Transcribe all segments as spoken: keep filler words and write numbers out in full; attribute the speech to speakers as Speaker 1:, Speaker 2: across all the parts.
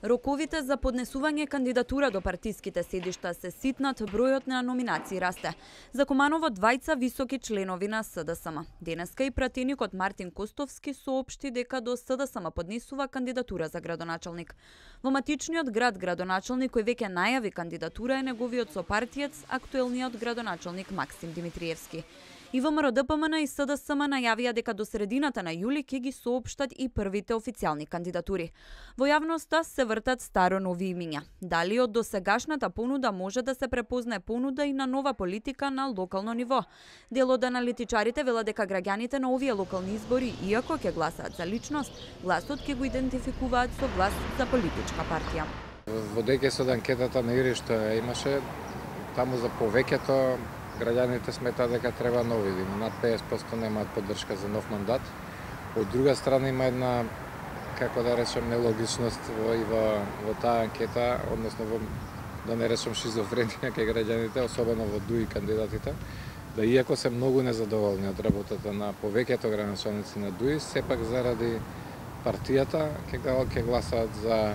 Speaker 1: Роковите за поднесување кандидатура до партиските седишта се ситнат, бројот на номинации расте. За Куманово двајца високи членови на С Д С М. Денеска и пратеникот Мартин Костовски соопшти дека до С Д С М поднесува кандидатура за градоначалник. Во матичниот град градоначалник кој веќе најави кандидатура е неговиот сопартиец, актуелниот градоначалник Максим Димитриевски. И Во М Р Д П М Н и С Д С М најавија дека до средината на јули ќе ги соопштат и првите официјални кандидатури. Во јавноста се вртат старо нови имиња. Дали од досегашната понуда може да се препознае понуда и на нова политика на локално ниво? Дел од аналитичарите велат дека граѓаните на овие локални избори, иако ќе гласаат за личност, гласот ќе го идентификуваат со глас за политичка партија.
Speaker 2: Водејќи се од анкетата на Ири што имаше, таму за повеќето граѓаните сметаат дека треба нови, над педесет проценти немаат поддршка за нов мандат. Од друга страна има една, како да речем, нелогичност во, и во, во таа анкета, односно во, да не речем шизофренија кај граѓаните, особено во ДУИ кандидатите, да иако се многу незадоволни од работата на повеќето градоначалници на ДУИ, сепак заради партијата ќе ќе гласаат за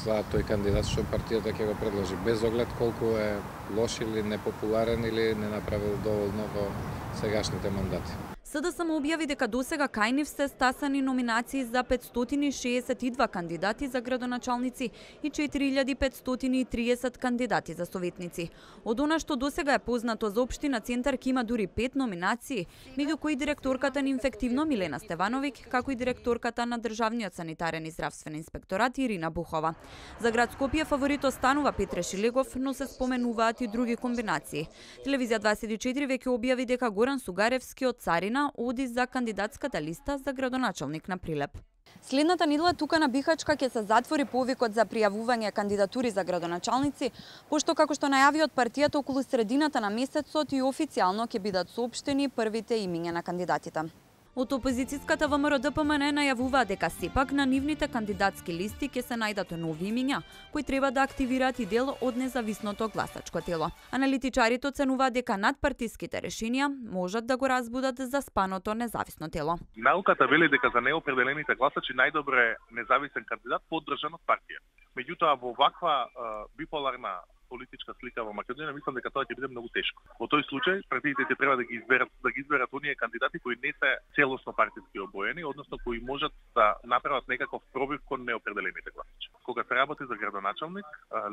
Speaker 2: за тој кандидат што партијата ќе го предложи, без оглед колку е лош или непопуларен или не направил доволно во сегашните мандати.
Speaker 1: С Д С М објави дека досега кај нив се стасани номинации за петстотини и шеесет и два кандидати за градоначалници и четири илјади петстотини и триесет кандидати за советници. Од она што досега е познато за општина Центар има дури пет номинации, меѓу кои директорката на инфективно Милена Стевановиќ, како и директорката на Државниот санитарен и здравствен инспекторат Ирина Бухова. За град Скопје фаворит останува Петре Шилегов, но се споменуваат и други комбинации. Телевизија дваесет и четири веќе објави дека Горан Сугаревски од Царина оди за кандидатската листа за градоначалник на Прилеп. Следната недела тука на Бихачка ќе се затвори повикот за пријавување кандидатури за градоначалници, пошто како што најави од партијата околу средината на месецот и официјално ќе бидат соопштени првите имиња на кандидатите. Од опозицијската Во М Р Д П М Н најавуваа дека сепак на нивните кандидатски листи ќе се најдат нови имиња, кои треба да активираат и дел од независното гласачко тело. Аналитичарите оценуваат дека надпартиските решенија можат да го разбудат заспаното независно тело.
Speaker 3: Науката вели дека за неопределените гласачи најдобро е независен кандидат поддржан од партија. Меѓутоа во ваква uh, биполарна политичка слика во Македонија, мислам дека тоа ќе биде многу тешко. Во тој случај партиите треба да ги изберат да ги изберат оние кандидати кои не се целосно партиски обоени, односно кои можат да направат некаков пробив кон неопределените гласачи. Кога се работи за градоначалник,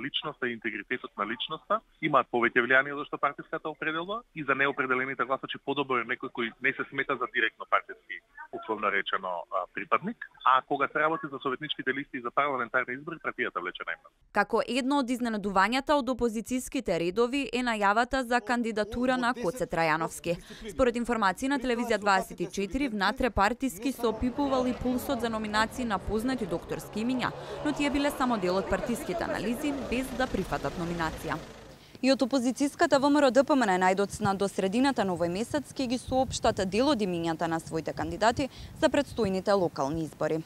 Speaker 3: личноста и интегритетот на личноста имаат повеќе влијание од што партиската определба и за неопределените гласачи подобро е некој кој не се смета за директно партиски, условно речено, припадник, а кога се работи за советничките листи и за парламентарни избори, партијата влече најмногу.
Speaker 1: Како едно од изненадувањата од опозицијските редови е најавата за кандидатура на Коце Трајановски. Според информации на телевизија дваесет и четири, внатре партиски се опипувал и пулсот за номинации на познати докторски имиња, но тие биле само дел од партиските анализи, без да прифатат номинација. И од опозицијската Во М Р Д П М Н најдоцна до средината на овој месец ќе ги соопштат дел од имињата на своите кандидати за предстојните локални избори.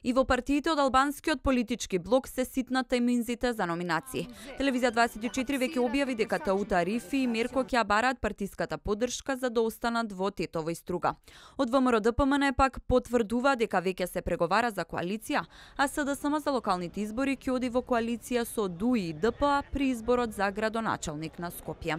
Speaker 1: И во партиите од албанскиот политички блок се ситнат тајминзите за номинации. Телевизија дваесет и четири веќе објави дека Таута Арифи и Мерко ќе бараат партиската поддршка за да останат во Тетово и Струга. Од Во М Р Д П М Н пак потврдува дека веќе се преговара за коалиција, а С Д С М за локалните избори ќе оди во коалиција со ДУИ и Д П А при изборот за градоначалник на Скопје.